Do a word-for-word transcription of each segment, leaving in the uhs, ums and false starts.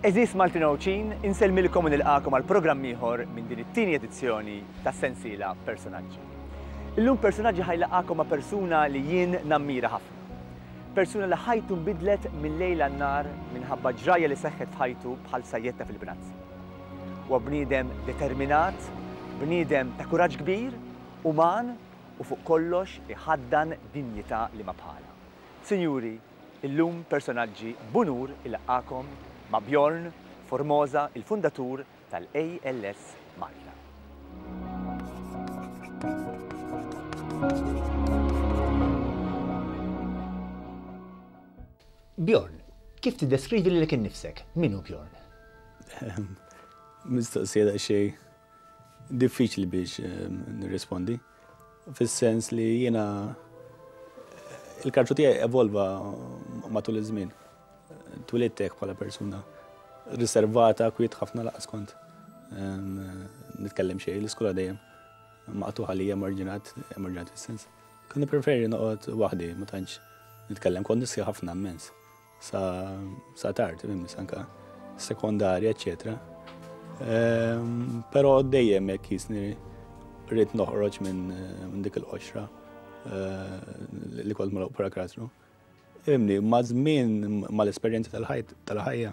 Għeżież Maltin u Għawdxin, insellmilkom u nilqagħkom għal programm ieħor minn din it-tieni edizzjoni tas-sensiela Personaġġi. Illum Personaġġi ħa jlaqqagħkom ma' persuna li jien nammira ħafna. Persuna li ħajtu nbidlet mill-lejl għan-nhar minħabba ġrajja li seħħet f'ħajtu bħal sajjetta fil-bnazzi. Huwa bniedem determinat, bniedem ta' kuraġġ kbir, uman u fuq kollox iħaddan dinjità li ma bħala. Sinjuri, illum Personaġġi b'unur ilaqqagħkom ma' Bjorn Formosa, il-fundatur tal-A L S Malta. Bjorn, kif tiddeskrivi lilek innifsek? Min hu Bjorn? Mistoqsija daqsxejn diffiċli biex nirrispondi. Fis-sens li jiena il-karattru tiegħi evolva matul iż-żmien. Twelidt hekk bħala persuna riservata, kwiet ħafna, lanqas kont nitkellem xejn, l-iskola dejjem maqtugħ għalija, marġinat, marġinat fis-sens. Kont nippreferi noqgħod waħdi, ma tantx nitkellem, kont nistħi ħafna immens. Sa, sa tard, fimni, anka sekondarja, eccetera. Ehm, Però dejjem hekk jisni rrid noħroġ minn minn dik il-qoxra eh, li kont magħluq bħala karattru. Imni, ma' żmien, mal-esperjenza tal-ħajt tal-ħajja,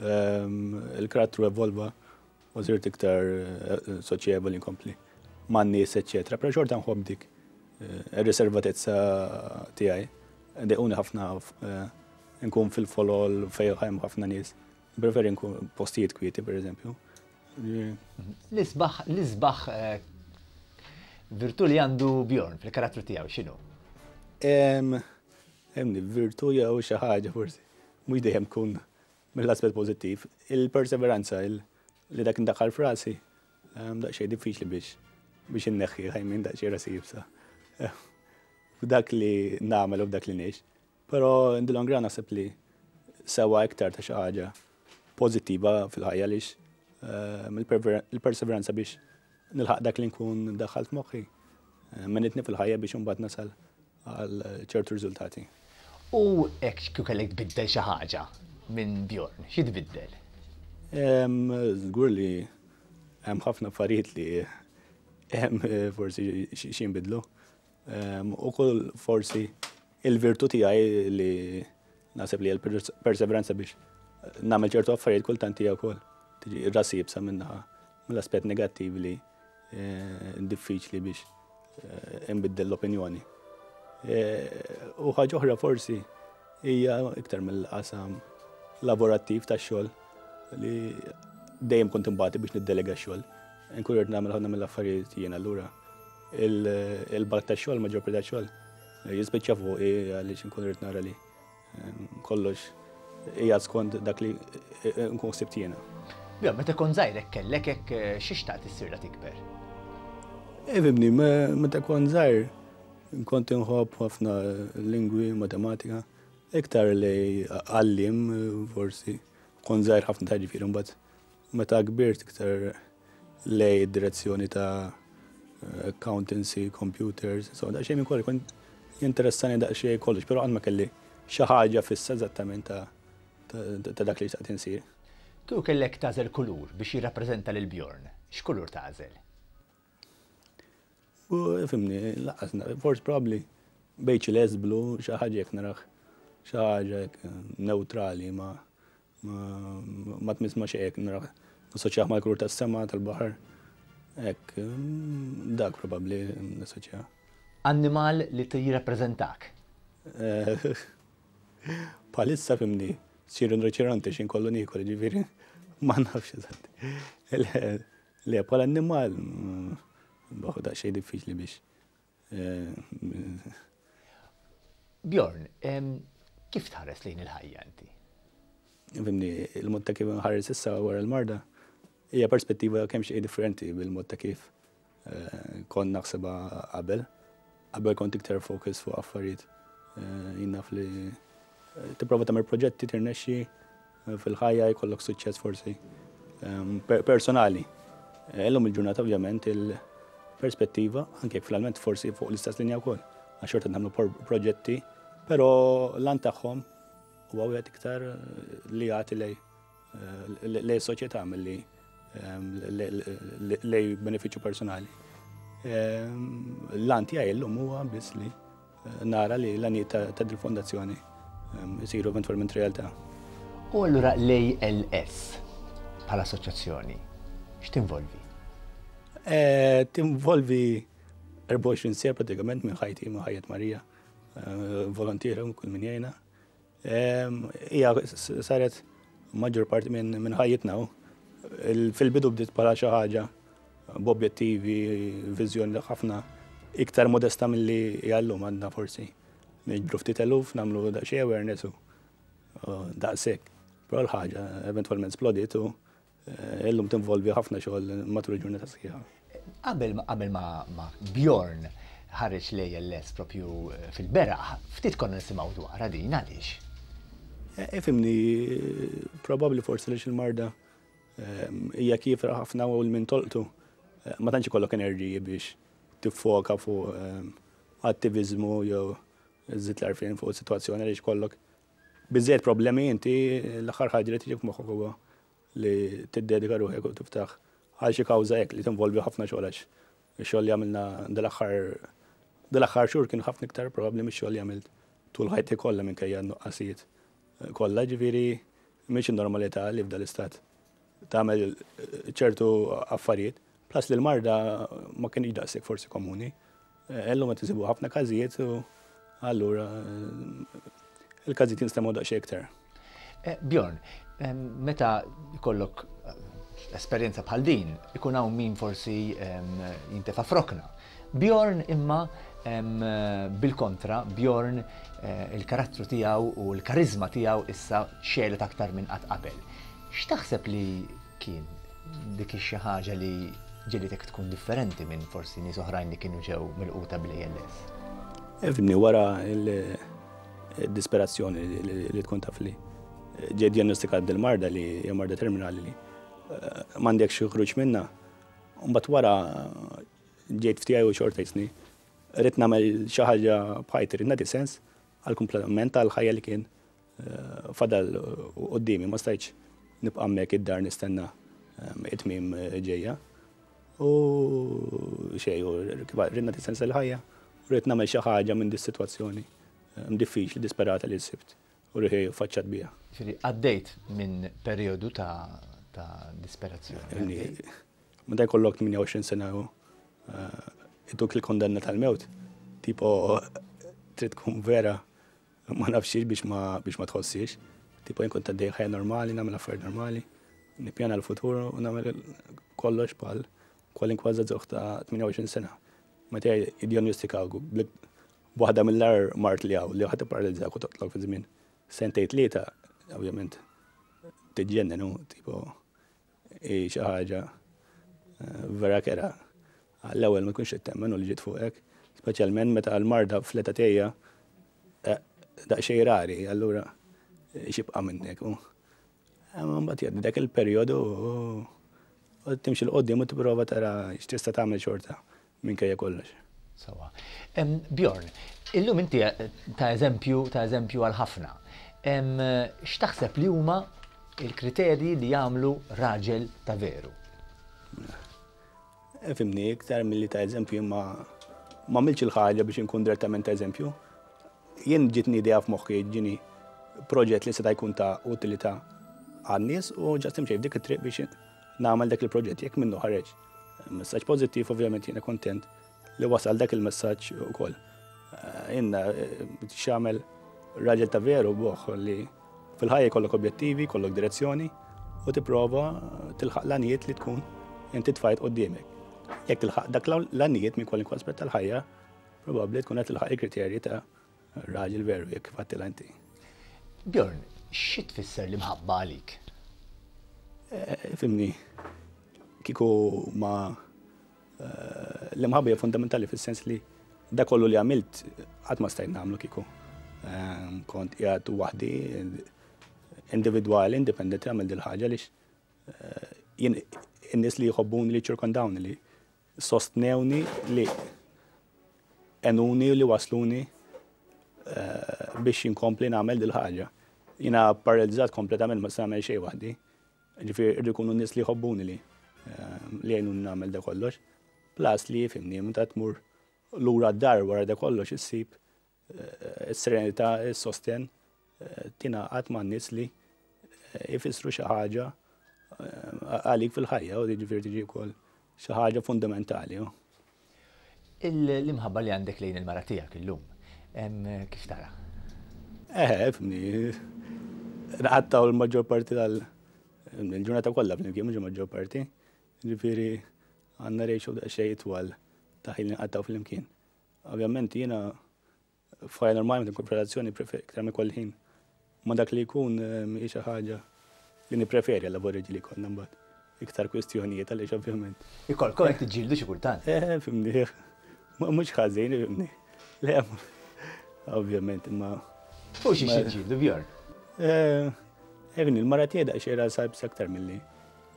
ehm, il-karattru evolva u sirt iktar eh, soċjevoli, nkompli man-nies, eccetera. Però xorta nħobb dik eh, ir-riservatezza tiegħi. Dejquni ħafna eh, nkun fil-folol fejn hemm ħafna nies. Preferi nkun postijiet kwieti, per eżempju. L-isbaħ, l-isbaħ eh, virtu li għandu Bjorn fil-karattru tiegħu x'inhu? Em, Emni, virtu jew xi ħaġa forsi. Mhux dejjem kun mill-aspett pożittiv. Il-perseveranza, il li dak indaħħal f'rasi, em, daqsxejn diffiċli biex biex inneħħi ħajmin daqsxejn rasi iebsa. F'dak li nagħmel u f'dak li ngħix. Però in the long run naħseb li sewa iktar ta' xi ħaġa pożittiva fil-ħajja għaliex em, il-perseveranza biex nilħaq dak li nkun daħħalt moħħi. Għenitni fil-ħajja biex imbagħad nasal għal ċertu riżultati. U hekk kieku kellek tbiddel xi ħaġa minn Bjorn, xi tbiddel? Em, Żgur li hemm ħafna affarijiet li hemm eh, forsi xi xi jinbidlu. Em, Ukoll forsi il-virtu tiegħi li naħseb li l-perseveranza biex nagħmel ċertu affarijiet kultant hija wkoll tiġi rasi iebsa minnaħa mill-aspett negattiv li eh, diffiċli biex eh, inbiddel l-opinjoni. Eh, U ħaġa oħra forsi hija iktar mill-qasam lavorattiv tax-xogħol li dejjem kont imbati biex niddelega x-xogħol. Nkun rrid nagħmel ħafna mill-affarijiet jien, allura il-bulk tax-xogħol, maġġor parti tax-xogħol jispiċċa fuqi għaliex nkun rrid nara li eh, kollox hija skont dak li eh, nkun ħsibt jiena. Bjorn, meta kont żgħir hekk kellek hekk eh, xi xtaqt issir la tikber? Ifhimni, meta kont żgħir kont inħobb ħafna lingwi, matematika, iktar li għallim forsi, kont żgħir ħafna ta' ġifieri, mbagħad meta kbirt iktar lejn direzzjoni ta' accountancy, computers, so daqsxejn minn kollox, kont jinteressani daqsxejn kollox, però qatt ma kelli xi ħaġa fissa eżattament ta' ta' ta' dak li xtaqt insir. Kieku kellek tagħżel kulur biex jirrappreżenta lil Bjorn, x'kulur tagħżel? U fimni, lanqas, forsi probably bejn ċelest, blu, xi ħaġa jekk narah, xi ħaġa hekk neutrali, ma ma ma tmiss ma xejn, narah nassoċjah mal-kulur tas-sema, tal-baħar. Hekk, mm, dak probabbli nassoċjah. Annimal li jirrappreżentak? Eh, Bħalissa fimni, sir rinoċeronti xin kollu niekol, ġifieri, ma nafx eżatt. Le, Le, bħala annimal, mm, baħu daqsxejn diffiċli biex. eh, Bjorn, em, kif tħares lejn il-ħajja inti? Fimni, il-mod ta' kif nħares issa wara l-marda hija perspettiva kemm xejn differenti bil-mod ta' kif eh, kont naħsebha qabel. Qabel kont iktar focus fuq affarijiet. Eh, Jien naf li eh, tipprova tagħmel proġetti, tirnexxi eh, fil-ħajja, jkollok suċċess forsi ehm, per- personali. Eh, Illum il-ġurnata ovvjament il-perspettiva, anke jekk finalment forsi fuq l-istess linja wkoll, għax xorta nagħmlu por- proġetti, però l-għan tagħhom huwa wieħed iktar eh, li jagħti lejn lejn soċjetà milli lejn benefiċċju personali. L-għan tiegħi llum huwa biss li nara li l-għanijiet ta' dil-fondazzjoni jsiru eventwalment realtà. U allura l-A L S bħala assoċjazzjoni, x'tinvolvi? Tinvolvi erbgħa u għoxrin siegħa pratikament minn ħajti, minn ħajjet Marija, volontiera kull min jgħinna. Hija saret maġġor parti minn ħajjitna. Fil-bidu bdiet bħala xi ħaġa b'objettivi, viżjoni ħafna iktar modesta milli llum għandna, forsi niġbru ftit eluf, nagħmlu daqsxejn awareness u daqshekk. Però l-ħaġa eventwalment splodiet u illum tinvolvi ħafna xogħol matul il-ġurnata sħiħa. Qabel qabel ma, ma Bjorn ħareġ l-A L S propju fil-beraħ, ftit konna nisimgħu dwarha din, għaliex? Ifhimni, probabbli forsi li il-marda hija kiefra ħafna u l-min tolqtu ma tantx ikollok enerġiji biex tiffoka fuq attivizmu jew żżid l-għarfien fuq situazzjoni, għaliex kollok biżejjed problemi inti, l-aħħar ħaġa li tiġi f'moħħok huwa li tiddedika ruħek u tiftaħ għal xi kawża hekk li tinvolvi ħafna xogħol, għax ix-xogħol li għamilna dal-aħħar dal-aħħar xhur kien ħafna iktar probabbli mix-xogħol li għamilt tul ħajti kollha minkejja n-nuqqasijiet kollha. Ġifieri mhix normalità li f'dal istat tagħmel ċertu affarijiet, plus li l-marda ma kienx daqshekk forsi komuni. Illum qed isibu ħafna każijiet u allura il-każijiet jinstemgħu daqsxejn iktar. Bjorn, meta jkollok esperjenza bħal din, ikun hawn min forsi jintefa' f'rokna. Bjorn imma bil-kontra, Bjorn il-karattru tiegħu u l-karizma tiegħu issa xegħlet aktar minn qatt qabel. X'taħseb li kien dik xi ħaġa li ġiegħlitek tkun differenti minn forsi nies oħrajn li kienu ġew milquta bl-A L S? Ifhimni, wara il-disperazzjoni li tkun taf li ġej diagnostikat dil-marda li hija marda terminali li m'għandek xi ħruġ minna. Mbagħad wara ġejt f'tiegħi u xorta jisni rrid nagħmel xi ħaġa b'ħajti, rrid nagħti sens għal komplement tal-ħajja li kien fadal quddiemi, ma stajtx nibqa' hemmhekk id-dar nistenna it-tmiem ġejja. U xejn, rrid nagħti sens għall-ħajja, rrid nagħmel xi ħaġa minn dis-sitwazzjoni diffiċli, disperata li sibt u ruħi faċċat bija. Ġifieri għaddejt minn perjodu ta' ta' disperazzjoni. Meta jkollok tmienja u għoxrin sena u ituk il-kondanna tal-mewt, tipo trid tkun vera ma nafxiex biex ma biex ma tħossiex. Tipo jien kont għaddej ħajja normali, nagħmel affarijiet normali, nippjana l-futur u nagħmel kollox bħal kwalinkwa żagħżugħ ta' tmienja u għoxrin sena. Meta jiddiagnostikawk b'waħda mill-agħar mard li hawn, li ħa tipparalizzak u toqtlok fi żmien sentejn tlieta, ovvjament tiġġennen u tipo xi ħaġa vera kerha. Għall-ewwel ma tkunx temmen u li ġiet fuqek, speċjalment meta l-marda fl-età tiegħi daqsxejn rari, allura x'jibqa' minnek. Mbagħad jgħaddi dak il-perjodu u timxi 'l quddiem u tipprova tara x'tista' tagħmel xorta minkejja kollox. Sewwa. Bjorn, illum inti ta' eżempju ta' eżempju għal ħafna. X'taħseb li huma il-kriterji li jagħmlu raġel ta' veru? Ifhimni, iktar milli ta' eżempju, ma ma għamiltx il-ħaġa biex inkun direttament ta' eżempju. Jien ġitni idea f'moħħi, ġini proġett li seta' jkun ta' utilità għan-nies u just imxej f'dik it-triq biex nagħmel dak il-proġett, jekk minnu ħareġ messaġġ pożittiv, ovvjament jiena kontent li wasal dak il-messaġġ ukoll. Jiena x'jagħmel raġel ta' veru boħ li fil-ħajja jkollok objettivi, jkollok direzzjoni u tipprova tilħaq l-għanijiet li tkun inti tfajt quddiemek. Jekk tilħaq dak l-għanijiet minn kwalunkwe aspett tal-ħajja, probabbli tkun qed tilħaq il-kriterji ta' raġel veru, jekk fattila inti. Bjorn, xi tfisser l-imħabba għalik? Ifhimni, kieku ma l-imħabba hija fundamentali fis-sens li da kollu li għamilt qatt ma stajt nagħmlu kieku kont qiegħed waħdi, individwali, indipendenti, għamil dil-ħaġa, għaliex jien in-nies li jħobbuni, li ċirkondawni, li sostnewni, li għenuni u li wasluni biex inkompli nagħmel dil-ħaġa. Jiena paralizzat kompletament, ma nagħmel xejn waħdi. Ġifieri rridu jkunu nies li jħobbuni li li jgħinuni nagħmel da kollox. Plus li fimni, meta tmur lura d-dar wara da kollox issib is-serenità, is-sosten, tingħaqad ma' nies li jfissru xi ħaġa għalik fil-ħajja u jiġifieri tiġi wkoll xi ħaġa fundamentali. L-imħabba li għandek lejn il-mara tiegħek illum, kif tara? Eh, fimni, nqattgħu l-maġġor parti tal-ġurnata kollha flimkien, mhux il-maġġor parti. Ġifieri għandna ratio daqsxejn itwal ta' ħin li nqattgħu flimkien. Ovvjament jiena f'ħajja normali meta nkun f'relazzjoni iktar ma jkolli ħin ma' dak li jkun mhijiex xi ħaġa li nippreferi għal lavori li jkollna mbagħad. Iktar kwistjonijiet għaliex ovvjament. Ikolkom qed tiġġieldu xi kultant. Eh, fimni. Mhux ħażin, fimni. Le, ovvjament, imma. Fuq xi ġġieldu, Bjorn? Eh, fimni, il-mara tiegħi daqsxejn rasha iebsa aktar milli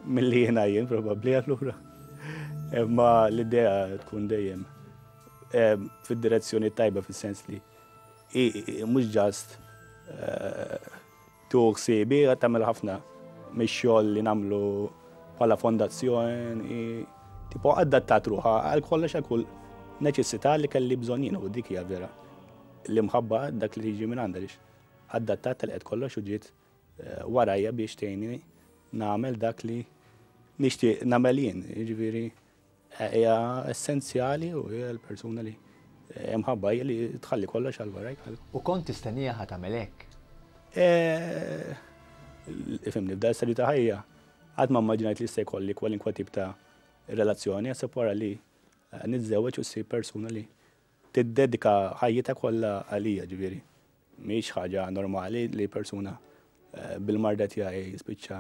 milli jiena jien probabbli allura. Imma l-idea tkun dejjem fid-direzzjoni tajba fis-sens li mhux ġast tuħ ħsiebi tagħmel ħafna mix-xogħol li nagħmlu bħala fondazzjoni, tipo adattat ruħha għal kollox għal kull neċessità li kelli bżonn jien u dik hija vera. L-imħabba dak li tiġi minn għandha għaliex adattat telqet kollox u ġiet warajja biex tgħinni nagħmel dak li nixtieq nagħmel jien, jiġifieri hija essenzjali u hija l-persuna li imħabba hija li tħalli kollox għal warajk. U kont tistennija ħa tagħmel hekk? Ifhimni, f'dan l-istadju ta' ħajja qatt ma immaġinajt li se jkolli kwalinkwa tip ta' relazzjoni, għasab wara li niżżewweġ u ssir persuna li tiddedika ħajjitha kollha għalija, ġifieri. Mhix ħaġa normali li persuna bil-marda tiegħi jispiċċa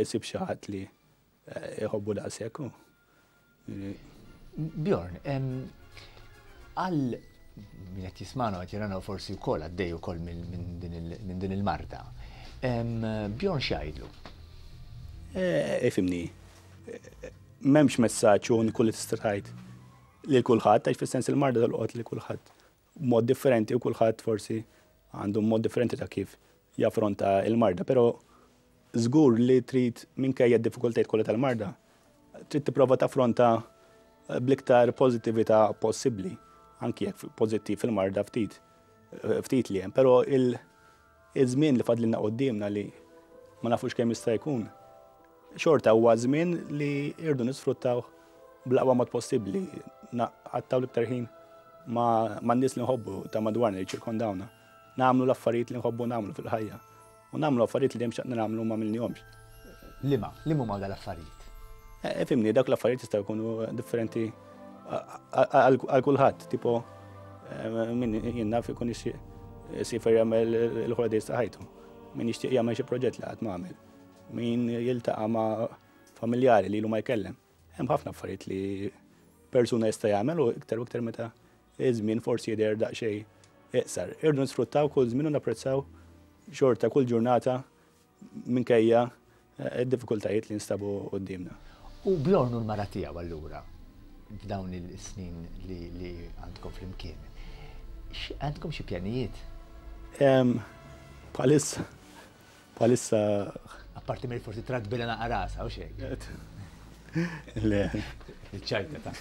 isib xi ħadd li jħobbu daqshekk. Bjorn, għal min qed jismagħna qed jirana forsi wkoll għaddej ukoll minn din il-marda. Bjorn x'jgħidlu? Ifhimni, m'hemmx messaġġ uniku li tista' tgħid lil kulħadd, għax fis-sens il-marda tolqot lil kulħadd b'mod differenti u kulħadd forsi għandu mod differenti ta' kif jaffronta il-marda, però żgur li trid minkejja d-diffikultajiet kollha tal-marda, trid tipprova taffronta bl-iktar pożittività possibbli, anki jekk pożittiv fil-marda ftit ftit li hemm, però il-żmien li fadlilna quddiemna li ma nafux kemm jista' jkun, xorta huwa żmien li rridu nisfruttaw bl-aqwa mod possibbli, naqattaw l-iktar ħin ma' nies li nħobbu ta' madwarna li ċirkondawna, nagħmlu l-affarijiet li nħobbu nagħmlu fil-ħajja u nagħmlu affarijiet li dejjem xtaqna nagħmlu ma għamilnihomx. Liema, liema huma dal-affarijiet? Fimni, dak l-affarijiet jistgħu jkunu differenti għal kulħadd, tipo min jien naf ikun jixtieq isifer jagħmel il-holidays ta' ħajtu, min jixtieq jagħmel xi proġett li qatt ma għamel, min jiltaqa' ma' familjari li ilu ma jkellem. Hemm ħafna affarijiet li persuna jista' jagħmel u iktar u iktar meta iż-żmien forsi jidher daqsxejn iqsar. Irdu nisfruttaw kull żmien u napprezzaw xorta kull ġurnata minkejja id-diffikultajiet li nstabu quddiemna. U Bjorn u l-mara tiegħu allura f'dawn il-snin li għandkom flimkien, għandkom xi pjanijiet? Bħalissa, bħalissa. Apparti mill forsi tradbila naqra rasa u xejn. Le. Il-ċajta ta'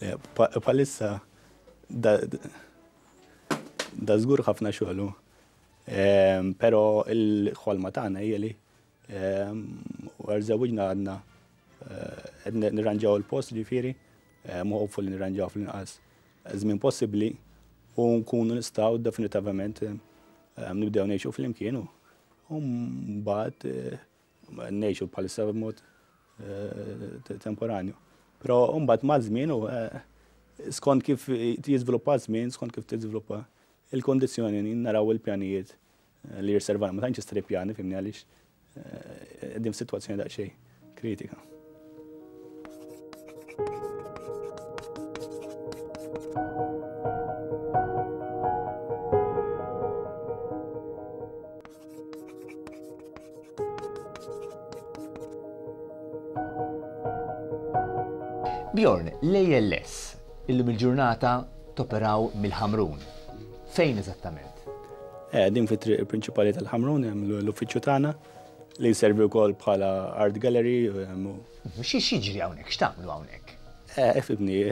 Le, bħalissa da żgur ħafna xogħlu. Però il-ħolma tagħna hija li wara żewġna għadna qed nirranġaw il-post, ġifieri, hopefully nirranġaw fl-inqas żmien possibbli u nkunu nistgħu definitivament nibdew ngħixu flimkien u mbagħad ngħixu bħalissa b'mod temporanju. Però mbagħad maż-żmien u skont kif jiżviluppa żmien, skont kif tiżviluppa il-kondizzjoni naraw il-pjanijiet li jirservana. Ma tantx jista' pjani fimni għaliex qegħdin f'sitwazzjoni daqsxejn kritika. Bjorn, l-A L S illum il-ġurnata toperaw mill-Ħamrun. Fejn eżattament? Eh, din fit-triq prinċipali tal-Ħamrun hemm l-uffiċċju tagħna li jservi wkoll bħala art gallery. Xi jiġri hawnhekk, x'tagħmlu hawnhekk? Ifhimni,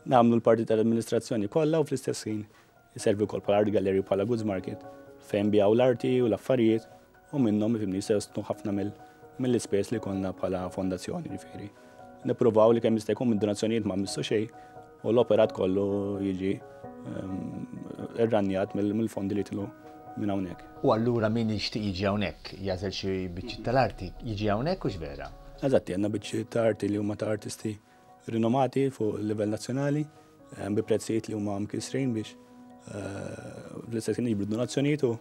nagħmlu l-parti tal-amministrazzjoni kollha u fl-istess ħin jservi wkoll bħala art gallery u bħala goods market fejn nbigħu l-arti u l-affarijiet u minnhom, ifhimni, jsostnu ħafna mill-ispejjeż li konna bħala fondazzjoni, ġifieri. Nippruvaw li kemm jista' jkun mid-donazzjonijiet ma mmissu xejn u l-operat kollu jiġi irranjat mill-fondi li tilu minn hawnhekk. U allura min jixtieq jiġi hawnhekk, jagħżel xi biċċiet tal-arti, jiġi hawnhekk u vera? Eżatti, għandna biċċiet ta' arti li huma ta' artisti rinomati fuq livell nazzjonali, bi prezzijiet li huma mkisrin biex fl-istess ħin jiġbru donazzjonijiet u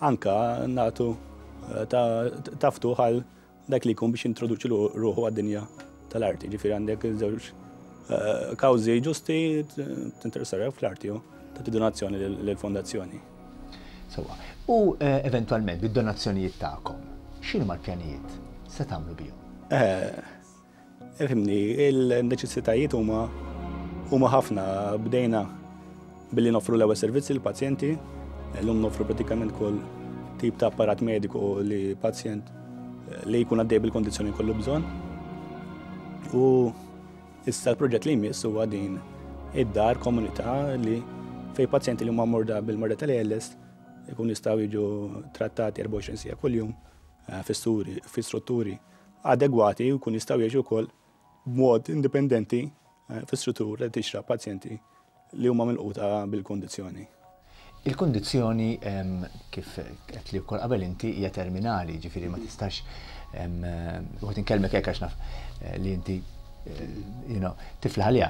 anka nagħtu ta' ftuħ għal dak li jkun biex introduċi ruħu għad-dinja tal-arti. Ġifieri għandek żewġ kawżi ġusti, tinteressaw fl-arti u tagħti donazzjoni lill-fondazzjoni. Sewwa. U eventwalment bid-donazzjonijiet tagħkom, x'inhuma l-pjanijiet se tagħmlu bihom? Ifhimni, il-neċessitajiet huma huma ħafna. Bdejna billi noffru l-ewwel servizzi lill-pazjenti, illum noffru pratikament kull tip ta' apparat mediku li pazjent li jkun għaddej bil-kondizzjoni kollu bżonn. U issa l-proġett li jmiss huwa din id-dar komunità li fej pazjenti li huma morda bil-marda tal-A L S ikun jistgħu jiġu trattati erbgħa u għoxrin siegħa kuljum fi strutturi adegwati u jkun jistgħu jgħixu wkoll b'mod indipendenti fi struttura li tixraq pazjenti li huma milquta bil-kondizzjoni. Il-kondizzjoni, kif qed li wkoll qabel inti, hija terminali, ġifieri ma tistax u qed inkellmek hekk għax naf li inti you know, tiflaħ għaliha.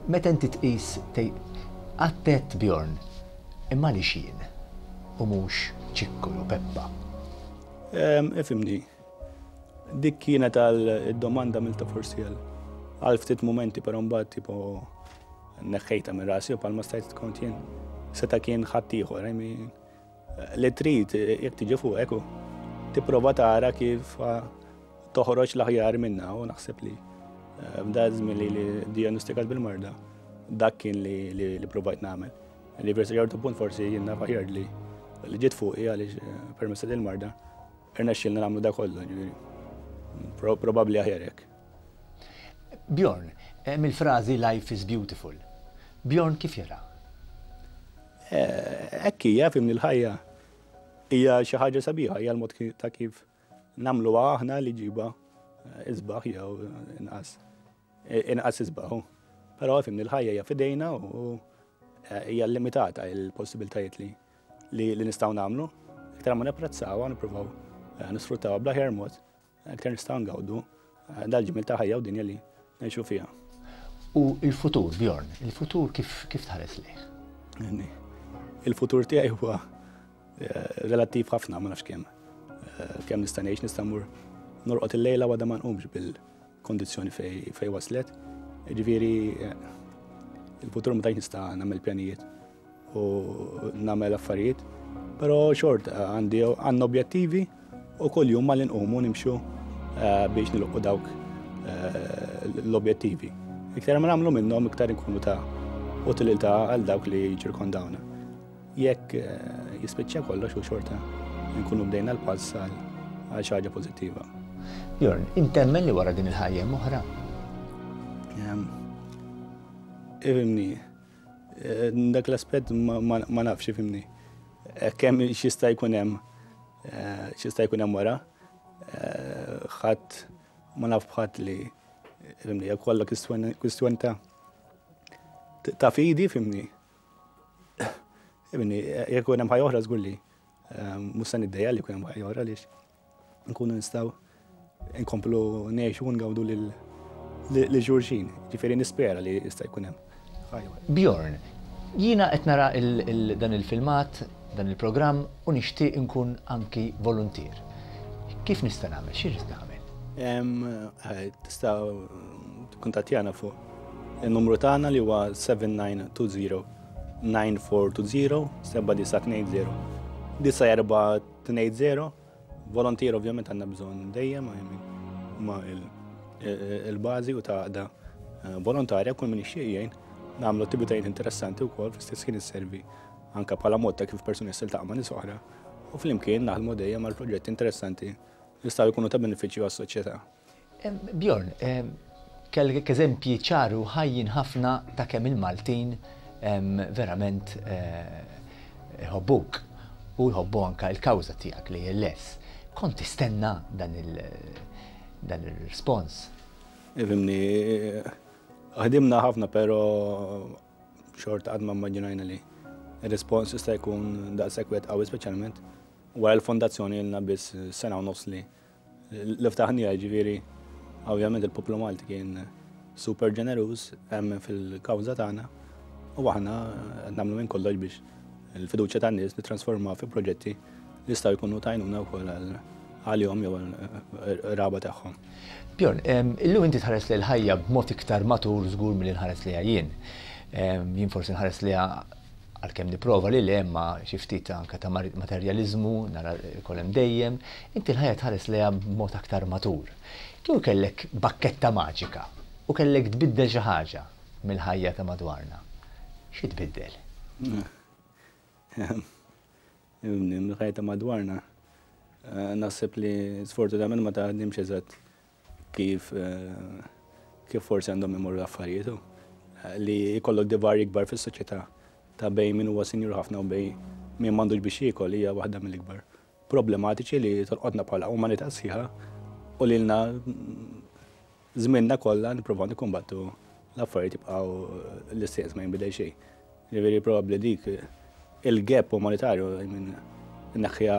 Meta inti tqis għattet Bjorn, imma li jien u mhux Ċikku u Peppa. Ifhimni, dik kienet għal domanda milta forsi għal ftit momenti, però mbagħad tipo neħħejta minn rasi u palma stajt kont jien. Seta' kien ħadd ieħor, I mean, li trid jekk tiġi fuqek u tipprova tara kif toħroġ l-aħjar minna u naħseb li f'da żmien li li diagnostikat bil-marda dak kien li li provajt nagħmel. Li versi ċertu punt forsi jien naf aħjar li li ġiet fuqi għaliex permezz il-marda irnexxielna nagħmlu da kollu, ġifieri. Probabbli aħjar hekk. Bjorn, hemm il-frażi "Life is beautiful". Bjorn kif jara? Hekk hija, fhimni, l-ħajja hija xi ħaġa sabiħa, hija l-mod ta' kif nagħmluha aħna li ġiba isbaħ jew inqas inqas isbaħ. Però, fhimni, l-ħajja hija f'idejna u hija limitata il-possibiltajiet li li nistgħu nagħmlu. Iktar ma napprezzawha, nippruvaw nisfruttawha bl-aħjar mod, iktar nistgħu ngawdu dal-ġmil ta' ħajja u dinja li ngħixu fiha. U il-futur, Bjorn, il-futur kif kif tħares lejh? Il-futur tiegħi huwa relattiv ħafna, ma nafx kemm. Kemm nista' ngħix, nista' mmur norqod il-lejla għada ma nqumx bil-kondizzjoni fej fej waslet. Ġifieri il-futur ma tantx nista' nagħmel pjanijiet u nagħmel affarijiet, però xorta għandi għandna objettivi u kull jum malli nqumu nimxu biex nilħqu dawk l-objettivi. Iktar ma nagħmlu minnhom, iktar inkunu ta' utilità għal dawk li jiċċirkondawna. Jekk jispiċċa kollox u xorta nkunu bdejna l-pass għal xi ħaġa pożittiva. Bjorn, intemmen li wara din il-ħajja hemm oħra? Ifhimni, dak l-aspett ma nafx, ifhimni. Kemm x'jista' jkun hemm, x'jista' jkun hemm wara, ħadd ma naf b'ħadd li, ifhimni, hija kollha kwistjoni ta' ta' fidi, fhimni. Ifhimni, jekk ikun hemm ħajja oħra żgur li mhux se niddejjaq li jkun hemm ħajja oħra għaliex nkunu nistgħu nkomplu ngħixu u ngawdu lil xulxin. Ġifieri nispera li jista' jkun hemm ħajja oħra. Bjorn, jiena qed nara dan il-filmat, dan il-programm u nixtieq inkun anki voluntier. Kif nista' nagħmel? X'irrid nagħmel? Tista' tikkuntattjana fuq il-numru tagħna li huwa seba' tnejn erba' tnejn erba' erba' seba' tnejn erba' tnejn erba' tnejn żero. Volontier ovvjament għandna bżonn dejjem ma il-bażi u ta' għaqda volontarja, kull min jixtieq jgħin nagħmlu attivitajiet interessanti wkoll, fl-istess ħin isservi anke bħala mod ta' kif persuni jiltaqa' ma' nies oħra. U flimkien naħdmu dejjem għal proġetti interessanti li jistgħu jkunu ta' benefiċċju għas-soċjetà. Bjorn, kellek eżempji ċaru ħajjin ħafna ta' kemm il-Maltin verament jħobbuk u jħobbu anka il-kawża tiegħek li L A L S. Kont tistenna dan il-respons? Ifhimni, ħdimna ħafna, pero xorta qatt ma immaġinajna li il-respons jista' jkun daqshekk wieħed qawwi, speċjalment wara l-fondazzjoni ilna biss sena u nofs li li ftaħnija. Ġifieri ovvjament il-poplu Malti kien super ġeneruż, emmen fil-kawża tagħna u aħna nagħmlu minn kollox biex il-fiduċja tan-nies nittransforma fi proġetti li jistgħu jkunu t'għajnuna wkoll għalihom jew qraba tagħhom. Bjorn, illum inti tħares li l-ħajja b'mod iktar matur żgur milli nħares li jien. Jien forsi nħares li għalkemm nipprova li le, ma xi ftit anke ta' materjaliżmu nara kolem dejjem, inti l-ħajja tħares lejha b'mod aktar matur. Kieku kellek bakketta maġika u kellek tbiddel xi ħaġa mill-ħajja ta' madwarna, xi tbiddel? Mill-ħajja ta' madwarna, naħseb li sfortunatament ma taħdimx eżatt kif kif forsi għandhom imorru l-affarijiet. Li jkollok divarji kbar fis-soċjetà ta' bejn min huwa sinjur ħafna u bejn min m'għandux biex jiekol hija waħda mill-ikbar problematiċi li tolqotna bħala umanità sħiħa u li lna żmienna kollha nippruvaw nikkumbattu l-affarijiet jibqgħu l-istess, ma jinbidel xejn. Ġifieri probabbli dik il-gap umanitarju minn naħja.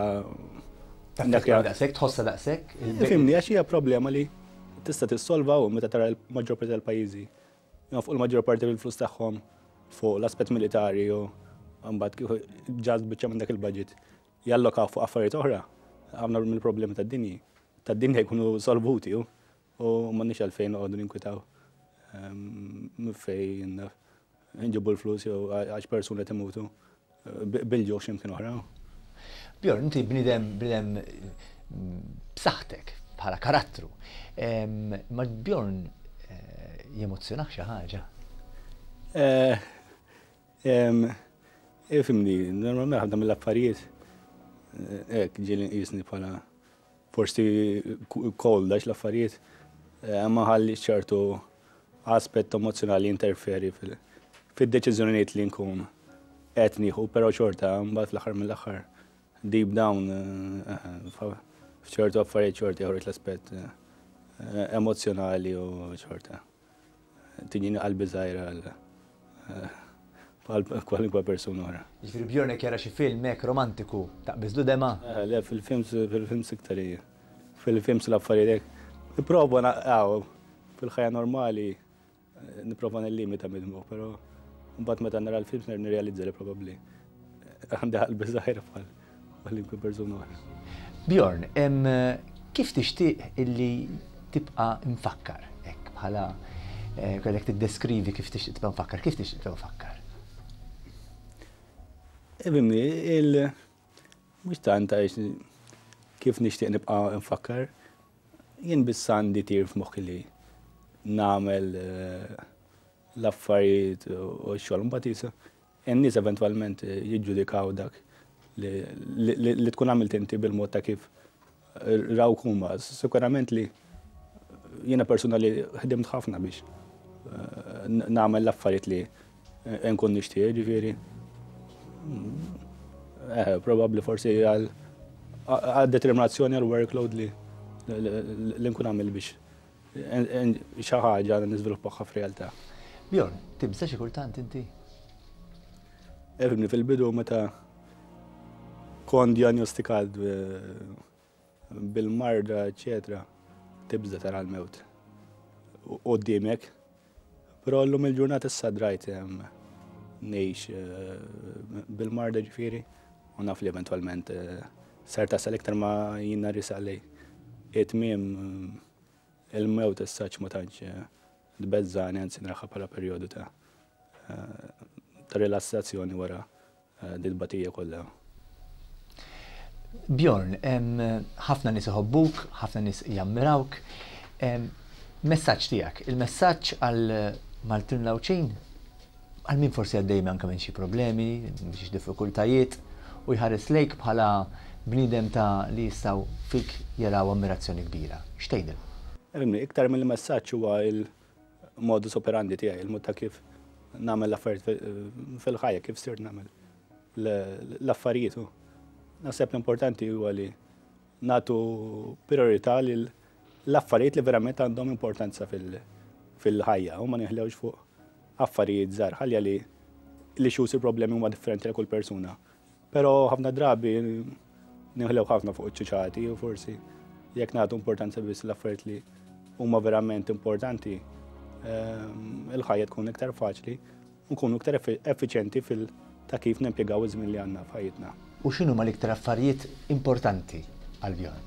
Naħja daqshekk, tħossha daqshekk? Ifhimni, għax hija problema li tista' tissolva u meta tara l-maġġor parti tal-pajjiżi fuq il-maġġor parti fil-flus tagħhom fuq l-aspett militari u mbagħad kieku ġaz biċċa minn dak il-budget jallokaw fuq affarijiet oħra, ħafna mill-problemi tad-dinji tad-dinja jkunu solvuti u m'għandniex għalfejn noqogħdu ninkwitaw fejn nġibu l-flus jew għax persuni timutu bil-ġuħ x'imkien oħra. Bjorn, inti bniedem bniedem b'saħħtek bħala karattru. Ma Bjorn jemozzjonak xi ħaġa? Ifhimni, normalment ħafna mill-affarijiet hekk ġieli nqisni bħala forsi cold għax l-affarijiet ma ħalli ċertu aspett emozjonali interferi fil-deċiżjonijiet li nkun qed nieħu, però xorta mbagħad fl-aħħar mill-aħħar, deep down, f'ċertu affarijiet xorta joħroġ l-aspett emozjonali u xorta tiġini qalbi żgħira għal kwalunkwe persuna oħra. Ġifieri Bjorn jara xi film hekk romantiku, taqbiżlu demgħa? Le, fil-films fil-films iktar hija. Fil-films l-affarijiet hekk. Nipprova naqgħu fil-ħajja normali, nipprova nillimita mid-dmugħ, però mbagħad meta nara l-films nirrealizza li probabbli għandi qalbi żgħira bħal kwalunkwe persuna oħra. Bjorn, kif tixtieq illi tibqa' mfakkar hekk bħala kellek tiddeskrivi kif tixtieq tibqa' mfakkar, kif tixtieq tibqa' mfakkar? Ifhimni, il mhux tant għax kif nixtieq nibqa' nfakkar, jien biss għandi tir f'moħħi li nagħmel l-affarijiet u x-xogħol, mbagħad jisa n-nies eventwalment jiġġudikaw dak li tkun għamilt inti bil-mod ta' kif rawk huma. Sikurament li jiena persuna li ħdimt ħafna biex nagħmel l-affarijiet li nkun nixtieq, ġifieri. Eh, probabbli forsi għal determinazzjoni, għal workload li li nkun għamil biex xi ħaġa niżviluppaha f'realtà. Bjorn, tibża xi kultant inti? Ifhimni, fil-bidu meta kont diagnostikat bil-marda, eccetera, tibża tara l-mewt qudiemek. Però llum il-ġurnata issa drajt ngħix bil-marda, ġifieri, u naf li eventwalment ser tasal. Iktar ma jiena riesaq lejn it-tmiem, il-mewt issa ma tantx tbeżżani, anzi naraha bħala perjodu ta' ta' rilassazzjoni wara dit-tbatija kollha. Bjorn, ħafna nies iħobbuk, ħafna nies jammirawk. Messaġġ tiegħek, il-messaġġ għal Maltin Għawdxin, għal min forsi għaddej anke minn xi problemi, xi diffikultajiet, u jħares lejk bħala bniedem ta' li jistgħu fik jaraw ammirazzjoni kbira. X'tgħidilhom? Iktar mill-messaġġ huwa il-modus operandi tiegħi, il-mod ta' kif nagħmel l-affarijiet fil-ħajja, kif sirt nagħmel l-affarijiet. Naħseb l-importanti huwa li nagħtu priorità lil l-affarijiet li verament għandhom importanza fil-ħajja u ma neħlewx fuq affarijiet żgħar, ħalja li li xus il-problemi huma differenti għal kull persuna. Però ħafna drabi neħlew ħafna fuq iċ-ċuċati u forsi jekk nagħtu importanza biss l-affarijiet li huma verament importanti, il-ħajja tkun iktar faċli u nkunu iktar effiċjenti fil ta' kif nimpjegaw iż-żmien li għandna f'ħajjitna. U x'inhuma l-iktar affarijiet importanti għal Bjorn?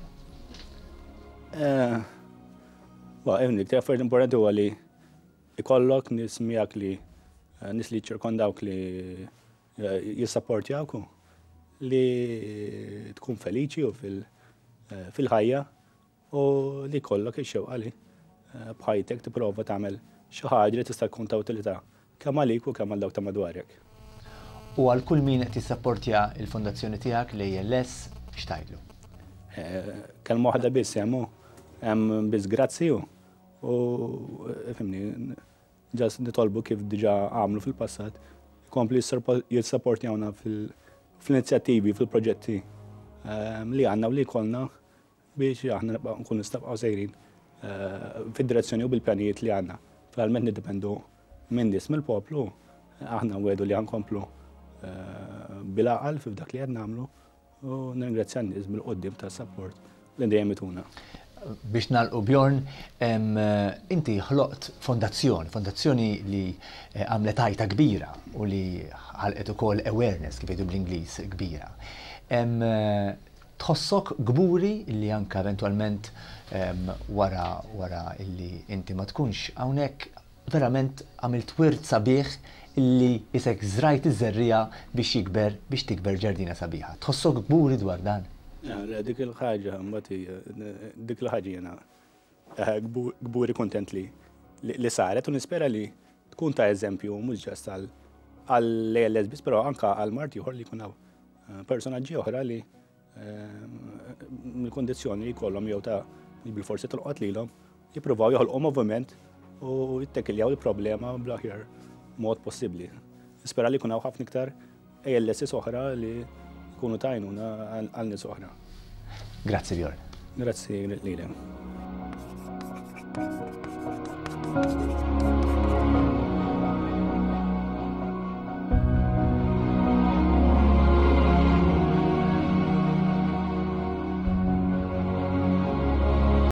L-iktar affarijiet importanti huwa li ikollok nies miegħek li nies li ċirkondawk li jissapportjawk, li tkun feliċi u fil-ħajja u li jkollok ix-xewqa li b'ħajtek tipprova tagħmel xi ħaġa li tista' tkun ta' utilità kemm għalik u kemm għal dawk ta' madwarek. U għal kull min qed jissapportja l-fondazzjoni tiegħek l-A L S, x'tgħidlu? Kelma waħda biss hemm, hemm biss grazzi u fimni, ġas nitolbu kif diġà għamlu fil-passat, ikompli jissapportjawna fil-inizjattivi, fil-proġetti li għandna u li jkollna biex aħna nkunu nistgħu sejrin fid-direzzjoni u bil-pjanijiet li għandna. Finalment niddependu minn nies mill-poplu, aħna nwedu li ħankomplu bil-għaqal f'dak li qed nagħmlu u nirringrazzja n-nies bil-qoddim tas-support li dejjem ituna. Biex nagħlqu Bjorn, inti ħloqt fondazzjoni, fondazzjoni li għamlet għajta kbira u li ħalqet ukoll awareness kif jgħidu bl-Ingliż kbira. Tħossok kburi li anke eventwalment wara, wara illi inti ma tkunx hawnhekk verament għamilt wirt sabiħ illi isek żrajt iż-żerriegħa biex jikber, biex tikber ġardina sabiħa. Tħossok kburi dwar dan? Le, dik il-ħaġa, mbagħad hija, dik il-ħaġa jiena kburi kontent li, li saret u nispera li tkun ta' eżempju mhux ġast għall-A L S biss, però anke għal mard ieħor li jkun hawn personaġġi oħra li mill-kondizzjoni li jkollhom jew ta' bil-forsi tolqot lilhom jippruvaw joħolqu moviment u jittekiljaw il-problema bl-aħjar mod possibbli. Nispera li jkun hawn ħafna iktar A L S oħra li jkunu tajnuna għal nies oħra. Grazzi Bjorn. Grazzi lilek.